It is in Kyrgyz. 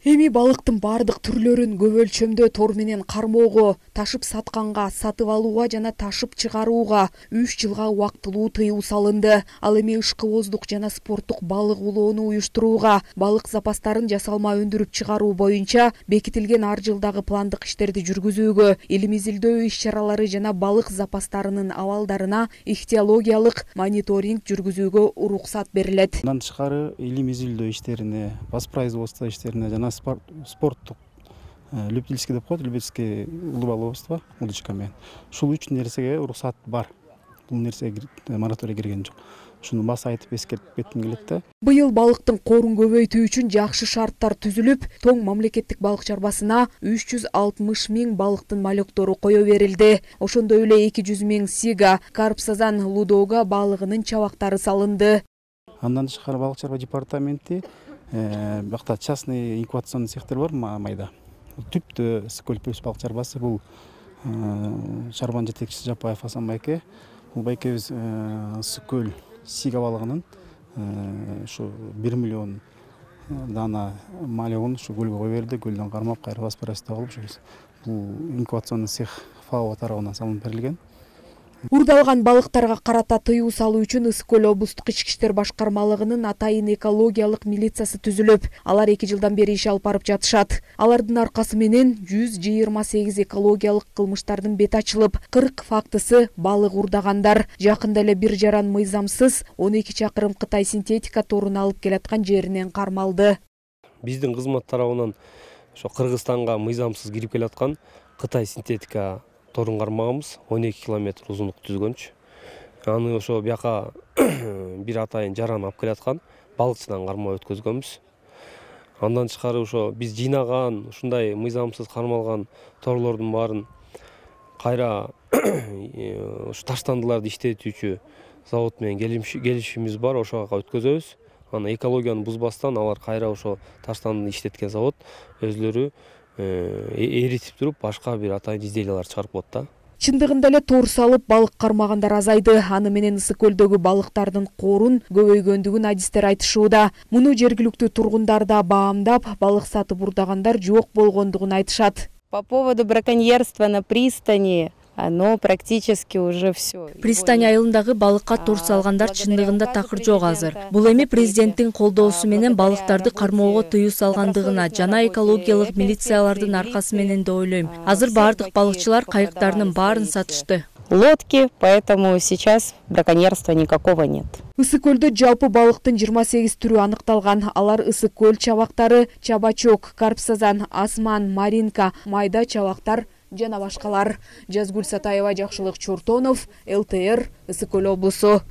Эми балыктын бардык түрлөрүн көп өлчөмдө тор менен кармоого, ташып сатканга, сатып алууга жана ташып чыгарууга 3 жылга убактылуу тыюу салынды. Ал эми ышкыбоздук жана спорттук балык улоону уюштурууга, балык запастарын жасалма өндүрүп чыгаруу боюнча бекитилген ар жылдагы пландык иштерди жүргүзүүгө, илим изилдөө иш-чаралары жана балык запастарынын абалдарына ихтиологиялык мониторинг жүргүзүүгө уруксат берилет. Мындан тышкары илим изилдөө иштерине, воспроизводство иштерине жана спорттук любительский деп коет, любительский рыболовство удочка менен. Ушул 3 нерсеге уруксат бар. Бул нерсеге мораторий кирген жок. Шуну баса айтып эскертип кетким келет да. Быйыл балыктын корун көбөйтүү үчүн жакшы шарттар түзүлүп, Тоң мамлекеттик балык чарбасына 360 миң балыктын малектору кое берилди. Ошондой эле 200 миң сига, карп, сазан, лудоога балыгынын чабактары салынды. Андан тышкары балык чарба департаменти бакта частный инкубационный цехтер бар майда. Түптө Ысык-Көл балык чарбасы бул чарбанын жетекчиси Жапаев Асан байке. Бул байкебиз Ысык-Көл сига балыгынын ушу 1 миллион дана малегун ушу көлгө кое берди. Көлдөн кармап кайра воспроизводство кылып, бул инкубационный цех ФАО тарабынан салынып берилген. Урдалган балыктарга карата тыюу салуу үчүн Ысык-Көл облустук ички иштер башкармалыгынын атайын экологиялык милициясы түзүлүп, алар 2 жылдан бери иш алып барып жатышат. Алардын аркасы менен 128 экологиялык кылмыштардын бети ачылып, 40 фактысы балык урдагандар. Жакында эле бир жаран мыйзамсыз 12 чакырым Кытай синтетика торун алып келаткан жеринен кармалды. Биздин кызмат тарабынан ошо Кыргызстанга мыйзамсыз кирип келаткан Кытай синтетика торун кармаганбыз, 12 километр узунлук түзгөнчү. Аны ошо бияка бир атайын жаран алып келаткан, балыкчыдан кармап өткөзгөнбүз. Андан тышкары ошо биз жыйнаган ушундай мыйзамсыз кармалган торлордун баарын кайра ушу таштандыларды иштетүүчү завод менен келишимибиз бар, ошого өткөзөбүз. Аны экологияны бузбастан алар кайра ошо таштанды иштеткен завод өзлөрү эритип туруп башка бир атайын изделиялар чыгарып коет да. Чындыгында эле тор салып балык кармагандар азайды. Аны менен Ысык-Көлдөгү балыктардын корун көбөйгөндүгүн адистер айтышууда. Муну жергиликтүү тургундар да баамдап, балык сатып урдагандар жок болгондугун айтышат. По поводу браконьерства на пристани, оно практически уже все. Пристань айылындагы балыкка тор салгандар чындыгында такыр жок азыр. Бул эми президенттин колдоосу менен балыктарды кармоого тыюу салгандыгына жана экологиялык милициялардын аркасы менен деп ойлойм. Азыр бардык балыкчылар кайыктарынын баарын сатышты. Лодки, поэтому сейчас браконьерства никакого нет. Ысык-Көлдө жалпы балыктын 28 түрү аныкталган. Алар Ысык-Көл чабактары, чабачок, карп, сазан, асман, маринка, майда чабактар жана башкалар. Жазгүл Сатаева, Жакшылык Чортонов, ЛТР, Ысык-Көл облусу.